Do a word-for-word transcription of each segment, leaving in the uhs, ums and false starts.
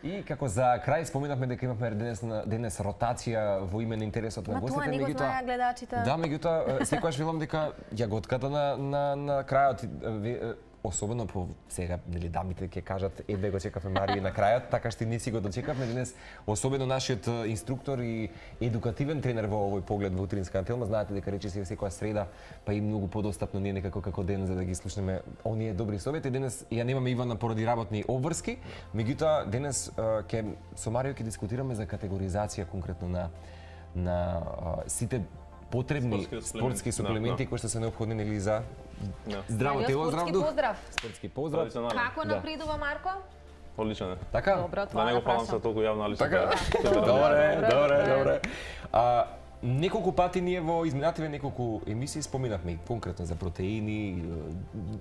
И како за крај споменавме дека имавме денес денес ротација во име на интересот на гостите, меѓутоа тоа не го знаеа гледачите. Да, меѓутоа секогаш велам дека јаготката на на на крајот, особено по сега, нели дамите ќе кажат едве го чекавме Марију на крајот, така што не си го дочекавме денес, особено нашиот инструктор и едукативен тренер во овој поглед во утринска телма. Знаете дека речиси секоја среда, па и многу подостапно не некако како ден за да ги слушнеме оние добри совети. Денес ја немаме Ивана поради работни обврски, меѓутоа денес ќе со Марију ќе дискутираме за категоризација конкретно на на сите потребни спортски суплементи кои што се неопходни нели за здраво тело, здрав дух. Поздрав. Спортски поздрав. Како напредува Марко? Одличен е. Така? Добро, Да не го фалам се толку јавно, али така. Добре, добре, добре. А неколку пати ние во изминативе неколку емисии споминавме конкретно за протеини,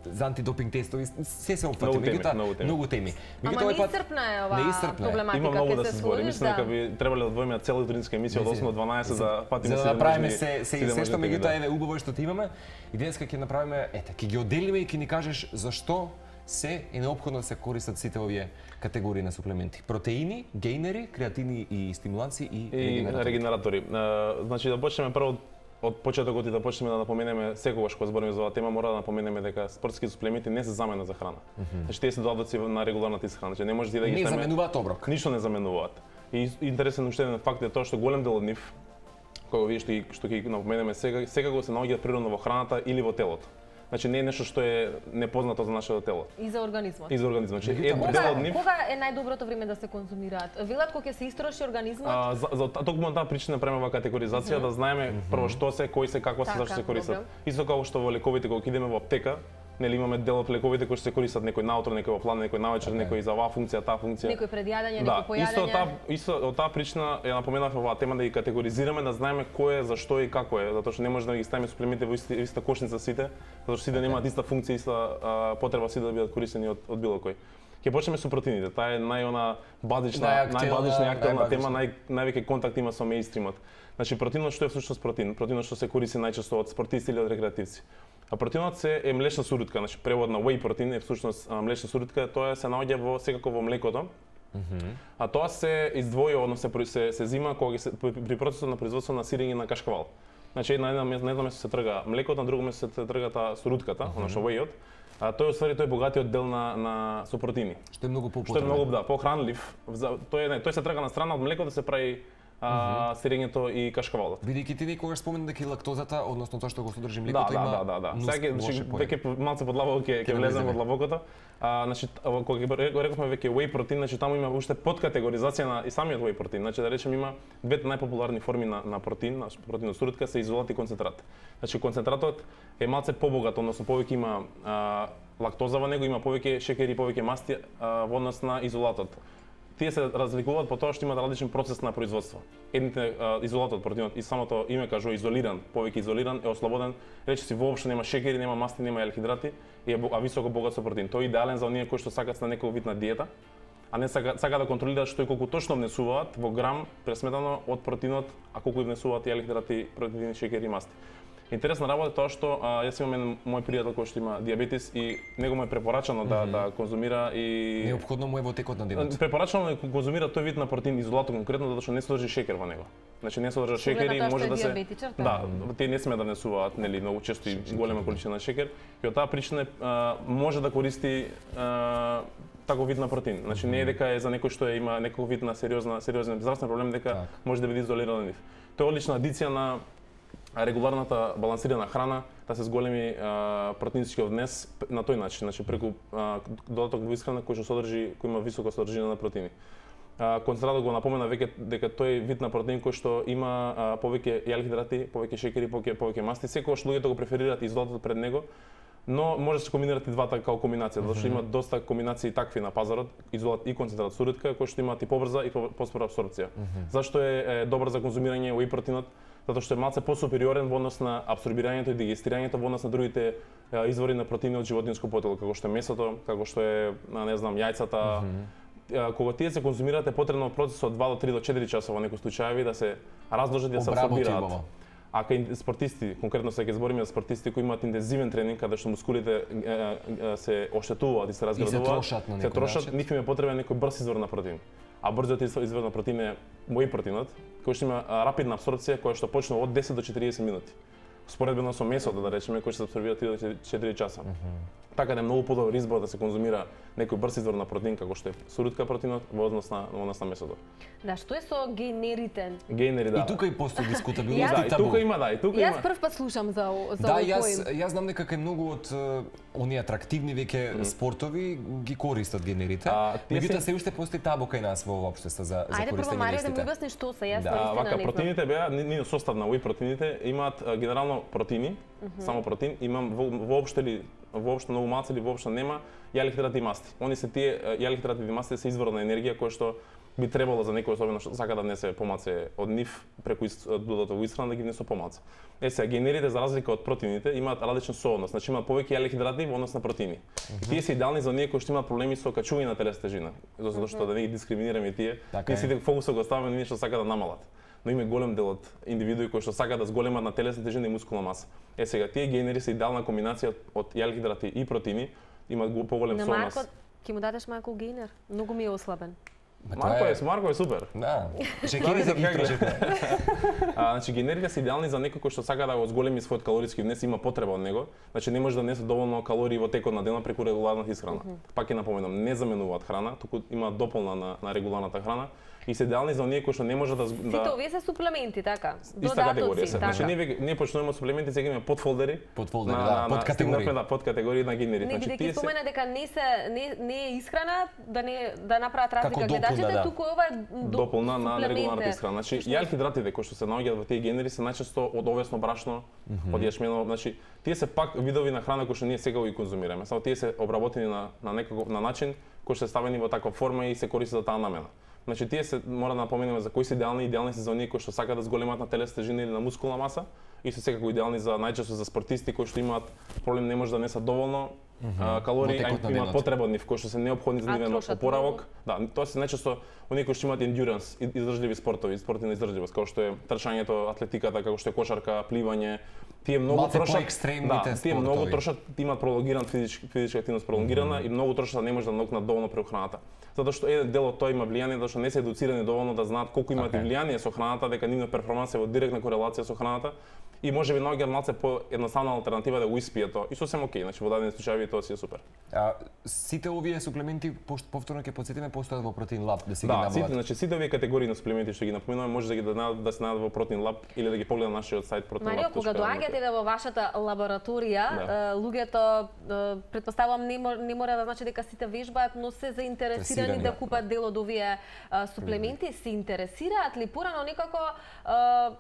за антидопинг тестови, се се опфати, меѓутоа многу теми. Ама неисцрпна е оваа проблематика. Има многу да се се збори. Мислам дека би требале да одвоиме цела утринска емисија од осем до дванаесет за патиме за да правиме се се се што меѓутоа еве убаво што ти имаме и денеска ќе направиме, ете, ќе ги одделиме и ќе ни кажеш зашто се е неопходно да се користат сите овие категории на суплементи. Протеини, гейнери, креатини и стимуланци и, и регенератори. регенератори. Значи да почнеме прво од почетокот и да почнеме да напоменеме секогаш кога збориме за оваа тема, мора да напоменеме дека спортски суплементи не се замена за храна. Mm -hmm. Значи тие се додатоци на регуларната исхрана. Значи не може да ги ставиме. Не заменуваат оброк. Ништо не заменуваат. И интересен уште еден факт е тоа што голем дел од нив, кога вие што ги што ги напоменеме сега, секако се наоѓаат природно во храната или во телото. Значи не е нешто што е непознато за нашето тело. И за организмот. И за организмот. Значи е дел од нив. Кога е најдоброто време да се конзумираат? Велат кога ќе се истроши организмот? А, за, за токму на таа причина правиме оваа категоризација, mm -hmm. да знаеме mm -hmm. прво што се, кои се, како се, зашто се користат. Исто како што во лековите кога идеме во аптека, нели имаме дел од лековите кои се користат некој наутро, некој во план, некој навечер, okay. некој за оваа функција, таа функција. Некој пред јадење, да, некој по јадење. Исто таа исто од таа причина ја напоменавме оваа тема да ги категоризираме, да знаеме кој е, зашто и како е, затоа што не може да ги ставиме суплементи во иста, иста кошница сите, затоа што сите okay. немаат иста функција, иста а, потреба сите да бидат користени од, од било кој. Ќе почнеме со протеините. Таа е најона базична, најбазична и актуелна тема, нај највеќе контакт има со меинстримот. Значи протеинот што е всушност протеин? Протеинот што се користи најчесто од спортисти или од рекреативци. А протеинот се е млечна сурутка, значи превод на whey протеин е всушност млечна сурутка, тоа се наоѓа во секако во млекото. Mm -hmm. А тоа се издвојува, односно се се, се зима кога се при процесот на производство на сирење на кашкавал. Значи на едно место, на едно место се трга млекото, на друго место се трга таа сурутката, mm -hmm. односно whey-от. А тој оствари тој богатиот дел на на со протеини. Што е многу попотребен. Што е многу да, похранлив. Тој е не, тој се трга на страна од млекото да се прави а, сирењето и кашкавалот. Бидејќи ти некогаш спомена дека и лактозата, односно тоа што го содржи млекото, да, има да, да, да, да. Сега значи веќе малце подлабоко ќе ќе влеземе во длабокото. А, значи кога го рековме веќе whey протеин, значи таму има уште подкатегоризација на и самиот whey протеин. Значи да речеме има двете најпопуларни форми на на протеин, на протеинот сурутка се изолат и концентрат. Значи концентратот е малце побогат, односно повеќе има а, лактоза во него, има повеќе шеќери, повеќе масти а, во однос на изолатот. Тие се разликуваат по тоа што имаат различен процес на производство. Едните а, изолатот протеинот и самото име кажува изолиран, повеќе изолиран е ослободен, речиси воопшто нема шеќери, нема масти, нема елхидрати и е а високо богат со протеин. Тој е идеален за оние кои што сакаат на некој вид на диета, а не сака, сака да контролираат што и колку точно внесуваат во грам пресметано од протеинот, а колку внесуваат и елхидрати, протеини, шеќери и масти. Интересна работа е тоа што а, јас имам еден мој пријател кој што има диабетес и него му е препорачано да mm -hmm. да конзумира и неопходно му е во текот на денот. Препорачано е да конзумира тој вид на протеин изолатот конкретно затоа што не содржи шеќер во него. Значи не содржи шеќер и може да се да, тие не сме да внесуваат нели многу често и голема количина шеќер и од таа причина а, може да користи а, таков вид на протеин. Значи не е дека е за некој што е, има некој вид на сериозна сериозен здравствен проблем дека так. може да биде изолиран од нив. Тоа е одлична адиција на регуларната балансирана храна, да се зголеми а, протеинскиот внес на тој начин, значи преку а, додаток во исхрана кој што содржи, кој има висока содржина на протеини. А, концентратот го напомена веќе дека тој вид на протеин кој што има а, повеќе елхидрати, повеќе шеќери, повеќе повеќе масти, секогаш луѓето го преферираат изолатот пред него, но може да се комбинираат и двата као комбинација, затоа што има доста комбинации такви на пазарот, изолат и концентрат сурутка, кои што имаат и побрза и поспора апсорбција. Mm -hmm. Зашто е, е добар за конзумирање whey протеинот? Затоа што е малце посупериорен во однос на апсорбирањето и дигестирањето во однос на другите е, извори на протеини од животинско потело, како што е месото, како што е, не знам, јајцата. Mm -hmm. Кога тие се конзумираат е потребно процес од два до три до четири часа во некои случаи да се разложат и да се апсорбираат. А кај спортисти, конкретно се ќе збориме за спортисти кои имаат интензивен тренинг, каде што мускулите е, е, се оштетуваат и се разградуваат, и се трошат на некој се трошат, нив им е потребен некој брз извор на протеин. а брзиот извор на протеин е whey протеинот, кој што има рапидна апсорбција, која што почнува од десет до четириесет минути. Споредбено со месото, да речеме, кој што се апсорбира три до четири часа. Mm -hmm. Така да е многу подобар избор да се конзумира некој брз извор на протеин како што е сурутка протеинот во однос на во однос на месото. Да, што е со генерите? Генери, да. И тука и постои дискутабилност и табу. Да, и тука има, да, и тука јас има. Јас прв пат слушам за за да, овој јас, поим. јас знам дека кај многу од оние атрактивни веќе mm. спортови ги користат генерите. Меѓутоа се уште постои табу кај нас во општество за за користење на истите. Ајде прво Марија да ми објасни што се, јас наистина не знам. Протеините беа нивниот состав на whey протеините имаат генерално протеини, mm -hmm. само протеин, имам воопшто или воопшто многу малце или воопшто нема јалихидрати и масти. Они се тие јалихидратите и мастите се извор на енергија која што би требало за некој особено што сака да внесе помалце од нив преку додато во исхрана да ги внесе помалце. Е сега генерите за разлика од протеините имаат различен сооднос, значи имаат повеќе јалихидрати во однос на протеини. Mm -hmm. И тие се идеални за оние кои што имаат проблеми со качување на телесна тежина, затоа што mm -hmm. да не ги дискриминираме тие, ние сите фокусот го ставаме на оние што сака да намалат. Но има голем дел од индивидуи кои што сакаат да зголемат на телесна тежина и мускулна маса. Е сега тие генери се идеална комбинација од јалихидрати и протеини, имаат поголем сооднос. На Марко ќе му дадеш малку генер, многу ми е ослабен. Марко е, Марко е супер. Да. Шекери за ги А значи генерите се идеални за некој кој што сака да го зголеми својот калориски внес, има потреба од него. Значи не може да внесе доволно калории во текот на денот преку регуларна исхрана. Mm -hmm. Пак ќе напоменам, не заменуваат храна, туку има дополна на, на регуларната храна. И се идеални за оние кои што не може да Сите да... овие се суплементи, така? Иста категорија се. Така. Значи ние не почнуваме суплементи, сега имаме подфолдери. Подфолдери, да, подкатегории. Да, подкатегории на генери. Не, значи тие се спомена дека не се не не е исхрана, да не да направат разлика гледачите, да. Туку ова е до, дополна на регуларната исхрана. Значи јалхидратите кои што се наоѓаат во тие генери се најчесто од овесно брашно, mm -hmm. од јашмено, значи тие се пак видови на храна кои што ние сега ги конзумираме. Само тие се обработени на на некаков на начин кој што е ставени во таква форма и се користи за таа намена. Значи тие се мора да напоменеме за кои се идеални, идеални се за оние кои што сакаат да зголемат на телесна тежина или на мускулна маса и се секако идеални за најчесто за спортисти кои што имаат проблем, не може да несат доволно mm -hmm. калории, а имаат потреба од нив кои што се неопходни за нивен опоравок. Да, тоа се најчесто оние кои што имаат endurance, издржливи спортови, спорти на издржливост, како што е трчањето, атлетиката, како што е кошарка, пливање. Тие многу трошат, да, тие многу трошат, имаат пролонгиран физичка физичка активност пролонгирана mm -hmm. и многу трошат не може да надокнат доволно преку храната. Затоа што еден дел од тоа има влијание, затоа што не се едуцирани доволно да знаат колку имаат okay. влијание со храната, дека нивната перформанса е во директна корелација со храната и можеби наоѓаат малце по едноставна алтернатива да го испијат тоа. И сосем окей, значи во дадени случаи тоа си е супер. А сите овие суплементи повторно ќе потсетиме постојат во Protein Lab да се да, ги набават. Да, значи сите овие категории на суплементи што ги напоменуваме може да ги да, да се најдат во Protein Lab или да ги погледнат на нашиот сајт protein lab. Марио, кога доаѓате да во вашата лабораторија, да. луѓето претпоставувам не, не мора да значи дека сите вежбаат, но се заинтересирани да купат дел од овие а, суплементи, mm -hmm. се интересираат ли порано некако а,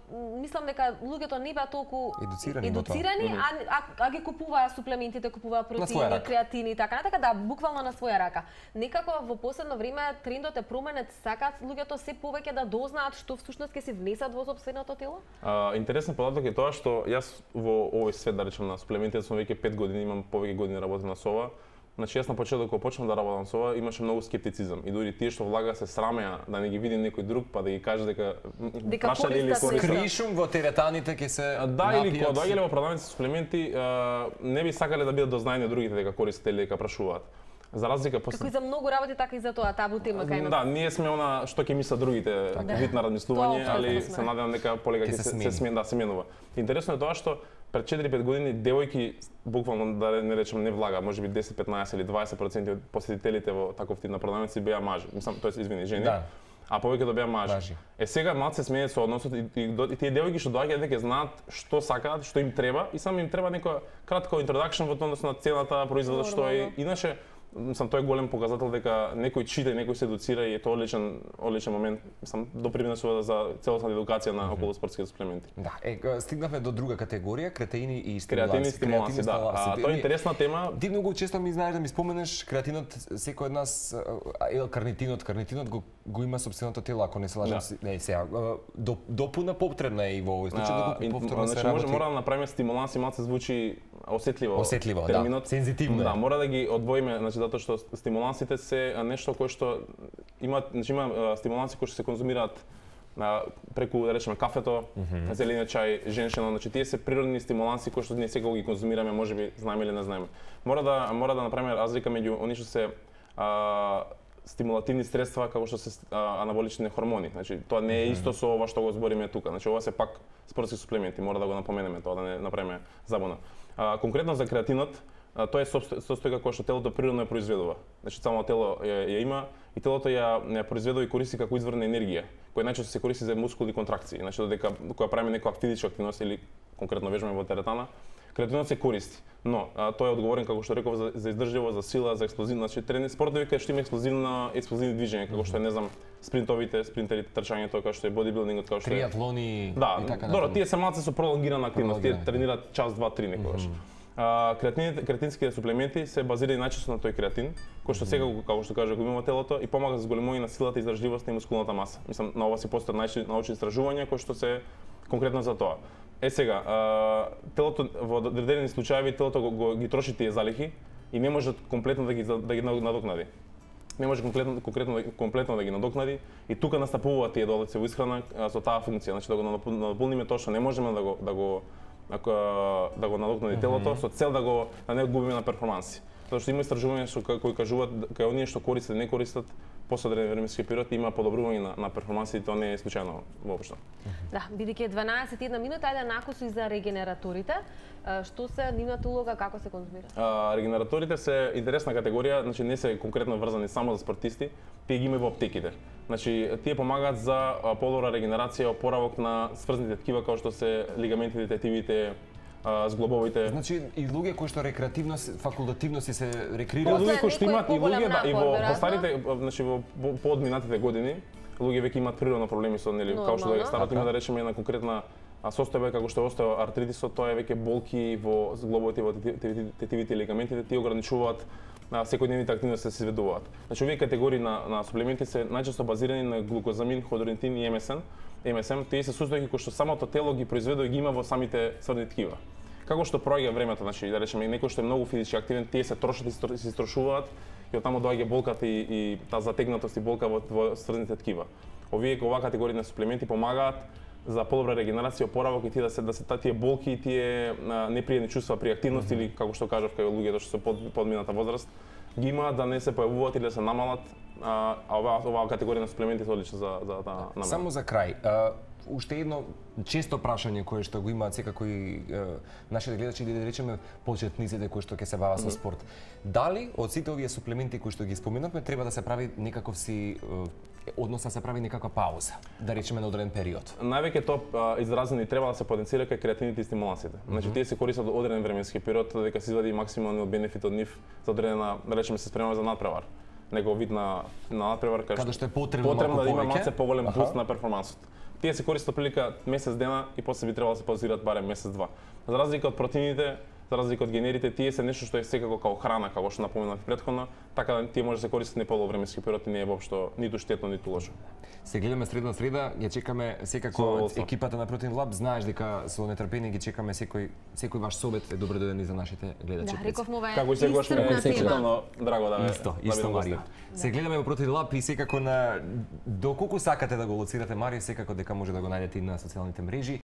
мислам дека луѓето не беа толку едуцирани, едуцирани mm -hmm. а, а, а ги купуваа суплементите, купуваа протеини, креатини и така натака, да, буквално на своја рака. Некако во последно време трендот е променет, сакаат луѓето се повеќе да дознаат што всушност ќе се внесат во сопственото тело? А, интересен податок е тоа што јас во овој свет, да речем, на суплементите сум веќе пет години, имам повеќе години работам на СОВА. Значи јас на почеток кога почнав да работам со ова, имаше многу скептицизам и дури тие што влага се срамеа да не ги види некој друг па да ги каже дека прашале или кришум во теретаните ќе се да или кога доаѓале во продавници суплементи не би сакале да бидат дознаени од другите дека користат или дека прашуваат. За разлика после како и за многу работи така и за тоа табу тема кај нас. Да, ние сме она што ќе мислат другите вид на размислување, али се надевам дека полека ќе се смени, да се менува. Интересно е тоа што пред четири-пет години девојки буквално да не речем не влага, можеби десет, петнаесет или дваесет проценти од посетителите во таков тип на продавници беа мажи. Мислам, тоест извини, жени. Да. А повеќето беа мажи. мажи. Е сега малце смее со односот и, и, и тие девојки што доаѓаат дека знаат што сакаат, што им треба и само им треба некоја кратко introduction во однос на цената, производот што е. Иначе сам тој голем показател дека некој чита, некој се едуцира и е тоа одличен одличен момент, сам допринесува за целосна едукација на околу спортските суплементи. Да, е стигнавме до друга категорија, креатини и стимуланси. Креатини и стимуланси, да. А, тоа е интересна тема. Ти многу често ми знаеш да ми споменеш креатинот, секој од нас е карнитинот, карнитинот го го има сопственото тело, ако не се лажам, да. Не сега до, допуна потребна е и во овој случај да го повторно се работи. Може мора да направиме стимуланси, малце звучи осетливо. Осетливо, терминот, да. Сензитивно. Да, мора да ги одвоиме, значи затоа што стимулансите се нешто кое што имаат, значи има стимуланси кои што се конзумираат на преку да речеме кафето, mm -hmm. зелениот чај, женшено, значи тие се природни стимуланси кои што ние сега ги конзумираме, можеби знаеме или не знаеме. Мора да мора да направиме разлика меѓу оние што се а, стимулативни средства како што се а, анаболични хормони. Значи тоа не е исто со ова што го збориме тука. Значи ова се пак спортски суплементи, мора да го напоменеме тоа, да не направиме забуна. А, конкретно за креатинот, а, тоа е состојка која што телото природно ја произведува. Значи само тело ја, ја има и телото ја, ја произведува и користи како извор на енергија, која најчесто се користи за мускулни контракции. Значи додека кога правиме некоја физичка активност или конкретно вежбаме во теретана, креатинот се користи, но а, тој е одговорен како што реков за, за издржливост, за сила, за експлозивно, значи трени спортови кај што има експлозивна експлозивни движења, како што е, не знам, спринтовите, спринтерите, трчањето, како што е бодибилдингот, како што е триатлони да, и така добро, тие се малце со пролонгирана активност, тие тренираат час, два, три некогаш. Mm -hmm. А, креатините, креатинските суплементи се базирани најчесто на тој креатин, кој што секако, како што кажа, го има во телото и помага за зголемување на силата, издржливоста и мускулната маса. Мислам, на ова се постојат научни истражувања кои што се конкретно за тоа. Е сега, а, телото во одредени случаи телото го, го ги троши тие залихи и не може комплетно да ги да ги надокнади. Не може конкретно конкретно комплетно да ги надокнади и тука настапуваат тие долаци во исхрана со таа функција, значи да го наполниме тоа што не можеме да го да го да го надокнади телото со цел да го да не губиме на перформанси. Затоа што има истражувања што кои кажуваат кај оние што користат не користат после одреден временски период има подобрување на, на перформансите, тоа не е случајно воопшто. Да, бидејќи е дванаесет и една минута, ајде накусу и за регенераторите. Што се нивната улога, како се конзумира? А, регенераторите се интересна категорија, значи не се конкретно врзани само за спортисти, тие ги има во аптеките. Значи тие помагаат за подобра регенерација, опоравок на сврзните ткива како што се лигаментите, тетивите, зглобовите. Значи и луѓе кои што рекреативно, факултативно си се рекреираат. Луѓе кои што имаат и луѓе да и во во старите, значи во поодминатите години, луѓе веќе имаат природно проблеми со нели, како што да старото има да речеме една конкретна состојба како што е остеоартритисот, тоа е веќе болки во зглобовите, во тетивите и лигаментите, тие ограничуваат на секојдневните активности да се изведуваат. Значи овие категории на на суплементи се најчесто базирани на глукозамин, ходротин и ем ес ем. ем ес ем тие се состојки кои што самото тело ги произведува и ги има во самите сврни ткива. Како што проаѓа времето, значи да речеме некој што е многу физички активен, тие се трошат и се истрошуваат и оттаму доаѓа болката и, и таа затегнатост и болка во, во сврните ткива. Овие оваа категорија на суплементи помагаат за подобра регенерација, опоравок и тие да се да се тие болки и тие непријатни чувства при активност mm -hmm. или како што кажав кај луѓето што се под подмината возраст ги има да не се појавуваат или да се намалат, а оваа оваа категорија на суплементи е одлична за за таа намера. Само за крај, а, уште едно често прашање кое што го имаат секако и е, нашите гледачи или да речеме почетниците кои што ќе се бават mm -hmm. со спорт. Дали од сите овие суплементи кои што ги споменавме треба да се прави некаков си односно да се прави некаква пауза, да речеме на одреден период? Највеќе тоа изразено и треба да се потенцира кај креатините и стимулациите. Mm -hmm. Значи тие се користат од одреден временски период додека се извади максималниот бенефит од нив за одредена, да речеме се спремаме за надпревар. Некој вид на на надпревар каде што е потребно, потребно да има малце поголем буст на перформансот. Тие се користат прилика месец дена и после би требало да се паузираат барем месец-два. За разлика од протеините, за разлика од генерите, тие се нешто што е секако како храна, како што напоменав претходно, така да тие може да се користат не полу временски период и не е воопшто ниту штетно, ниту лошо. Се гледаме средна среда, ја чекаме секако од екипата на Protein Lab, знаеш дека со нетрпение ги чекаме секој секој ваш собет е добро дојден и за нашите гледачи. Да, рековме како секогаш ме е секретно драго да исто, исто Марио. Се гледаме во Protein Lab и секако на доколку сакате да го лоцирате Марио, секако дека може да го најдете и на социјалните мрежи.